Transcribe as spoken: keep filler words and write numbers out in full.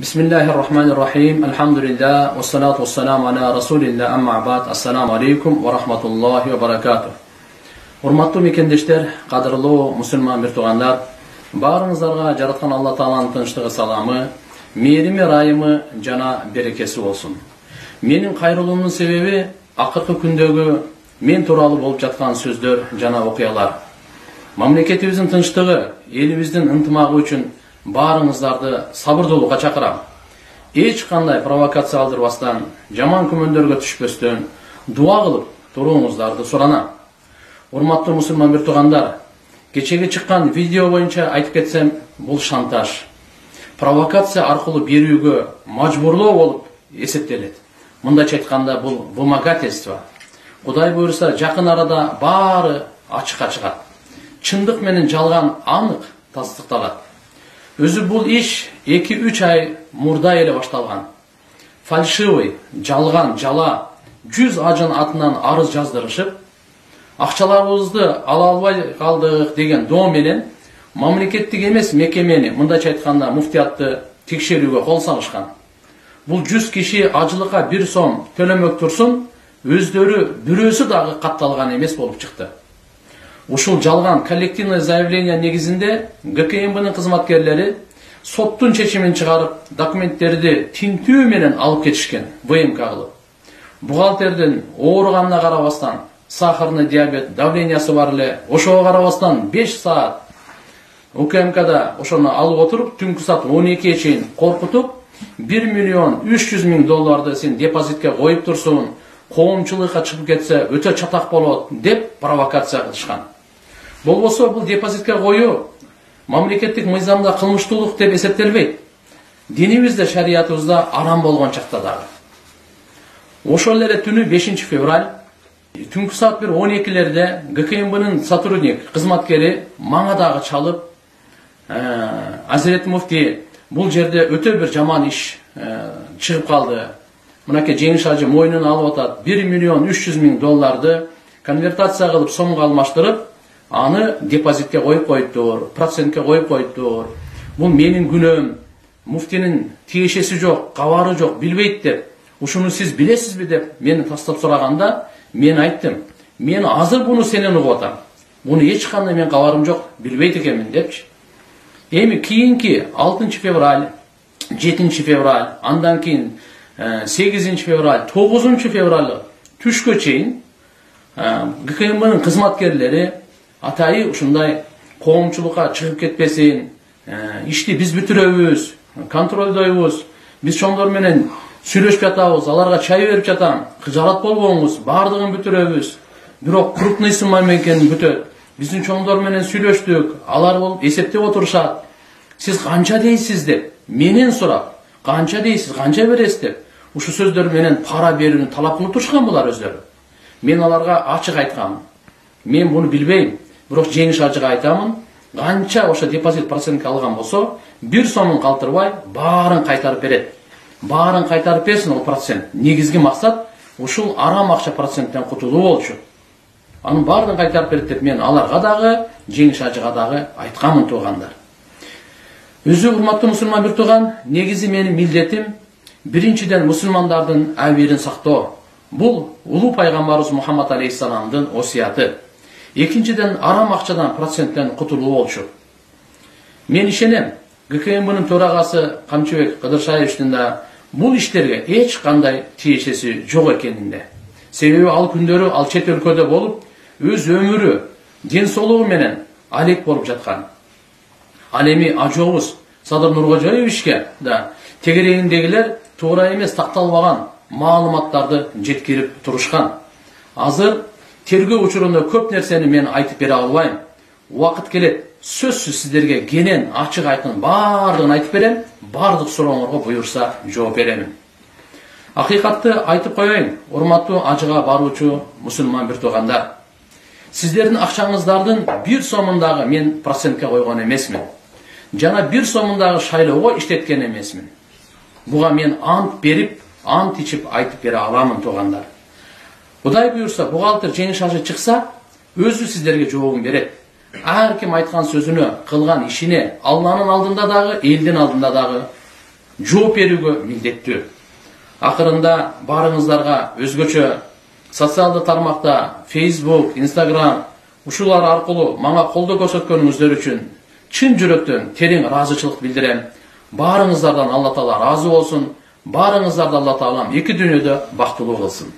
Bismillahirrahmanirrahim. Elhamdülillah. Ve salatu ve selamu ala Resulillah. Amma ba'd. Assalamu alaikum ve rahmatullahi ve barakatuh. Урматтуу мекендештер, кадырлуу мусулман бир туугандар, баарыңыздарга жараткан Алла Тааланын тынчтыгы, саламы, мээрими, ырайымы жана берекеси болсун. Менин кайрылуумдун себеби акыркы күндөгү мен тууралуу болуп жаткан сөздөр жана окуялар. Мамлекетибиздин тынчтыгы, элибиздин ынтымагы үчүн баарыңыздарды сабырдуулукка чакырам. Эч кандай провокация алдырбастан, жаман күмөндөргө түшпөстөн дуа кылып туруңуздарды суранам. Урматтуу мусулман бир туугандар, кечеги чыккан видео боюнча айтып кетсем, бул шантаж, провокация аркылуу берүүгө мажбурлоо болуп эсептелет. Мындайча айтканда бул вымогательство. Кудай буйруса, жакын арада баары ачыкка чыгат. Чындык менен жалган анык тастыкталат. Өзү бул иш эки үч ай мурда эле башталган. Фальшивый, жалган, жала жүз ажын атынан арыз жаздырышып, акчаларыбызды ала албай калдык деген доо менен мамлекеттик эмес мекемени, мындайча айтканда муфтиятты текшерүүгө кол салышкан. Бул жүз киши ажылыкка бир сом төлөмөк турсун, өздөрү бирөөсү дагы катталган эмес болуп чыкты. Ушул жалган коллективный заявление негизинде ГКМБнын кызматкерлери соттун чечимин чыгарып, документтерди тинтүү менен алып кетишкен, ВМК кылып. Бухгалтердин ооруганына карабастан, сахарный диабет, давлениясы бар эле, ошого карабастан беш саат УКМКда ошону алып отуруп, түнкү саат он экиге чейин коркутуп, бир миллион үч жүз миң долларды сен депозитке коюп турсун, коомчулукка чыгып кетсе өтө чатак болот деп провокация кылышкан. Болбосо бул депозитке коюу мамлекеттик мыйзамда кылмыштуулук деп эсептелбейт. Динибизде, шариятыбызда арам болгон чакта дагы. Ошол эле түнү бешинчи февраль түнкү саат бир он экилерде ГКМБнын сотрудник, кызматкери мага дагы чалып, Азирет муфти, бул жерде өтө бир жаман иш чыгып калды. Мынакей Жеңиш ажы мойнуна алып атат, бир миллион үч жүз миң долларды конвертация кылып сомго алмаштырып, аны депозитке коюп коюптур, процентке коюп коюптур. Бул менин күнөөм, муфтинин тиешеси жок, кабары жок, билбейт деп. Ушуну сиз билесизби деп мени тастап сураганда, мен айттым, мен азыр буну сенен угуп атам. Буну эч кандай мен кабарым жок, билбейт экенмин депчи. Эми кийинки алтынчы февраль, жетинчи февраль, андан кийин сегизинчи февраль, тогузунчу февраль түшкө чейин ГКМБнын кызматкерлери атайы ушундай коомчулукка чыгып кетпесин, ишти биз бүтүрөбүз, контролдойбуз, биз чоңдор менен сүйлөшүп жатабыз, аларга чай берип жатам, кыжаат болбоңуз, баардыгын бүтүрөбүз. Бирок крупный сумма экенин бүтөт. Биздин чоңдор менен сүйлөштүк, алар болуп эсептеп отурушат. Сиз канча дейсиз деп менен сурап, канча дейсиз, канча бересиз деп ушу сөздөр менен пара берүүнү талап кылып турушкан булар өздөрү. Мен аларга ачык айткам. Мен буну билбейм. Бирок Жеңиш ажыга айтамын, канча ошо депозит процентке алган болсо, бир сомун калтырбай баарын кайтарып берет. Баарын кайтарып берсин ол процент. Негизги максат ушул арам акча проценттен кутулуу болчу. Анын баарын кайтарып берет деп мен аларга дагы, Жеңиш ажыга дагы айткамын туугандар. Өзү урматтуу мусулман бир тууган, негизи менин милдетим биринчиден мусулмандардын абийирин сактоо. Бул улуу пайгамбарыбыз Мухаммад алейхиссаламдын осуяты. Экинчиден арам акчадан проценттен кутулуу болчу. Мен ишенем, ГКМБнын төрагасы Камчыбек Кыдыршаевичтин да бул иштерге эч кандай тиешеси жок экенинде. Себеби ал күндөрү ал чет өлкөдө болуп, өз өмүрү, ден соолугу менен алек болуп жаткан. Ал эми ажообуз Садыр Нуркожоевичке да тегерегиндегилер туура эмес такталбаган маалыматтарды жеткирип турушкан. Азыр тергөө учурунда көп нерсени мен айтып бере албайм. Убакыт келет, сөзсүз сиздерге кенен ачык айкын баардыгын айтып берем, баардык сурооңорго буйурса жооп беремин. Акыйкатты айтып коеюн, урматтуу ажыга баруучу мусулман бир туугандар. Сиздердин акчаңыздардын бир сомундагы мен процентке койгон эмесмин. Жана бир сомундагы шайлоого иштеткен эмесмин. Буга мен ант берип, ант ичип айтып бере аламын туугандар. Кудай буйурса, бухгалтер Жеңиш ажы чыкса, өзү сиздерге жообун берет. Ар ким айткан сөзүнө, кылган ишине Алланын алдында дагы, элдин алдында дагы жооп берүүгө милдеттүү. Акырында барыңыздарга өзгөчө социалдык тармакта Facebook, Instagram ушулар аркылуу мага колдоо көрсөткөнүңүздөр үчүн чын жүрөктөн терең ыраазычылык билдирем. Барыңыздардан Алла Таала ыраазы болсун. Барыңыздарды Алла Таалам эки дүйнөдө бактылуу кылсын.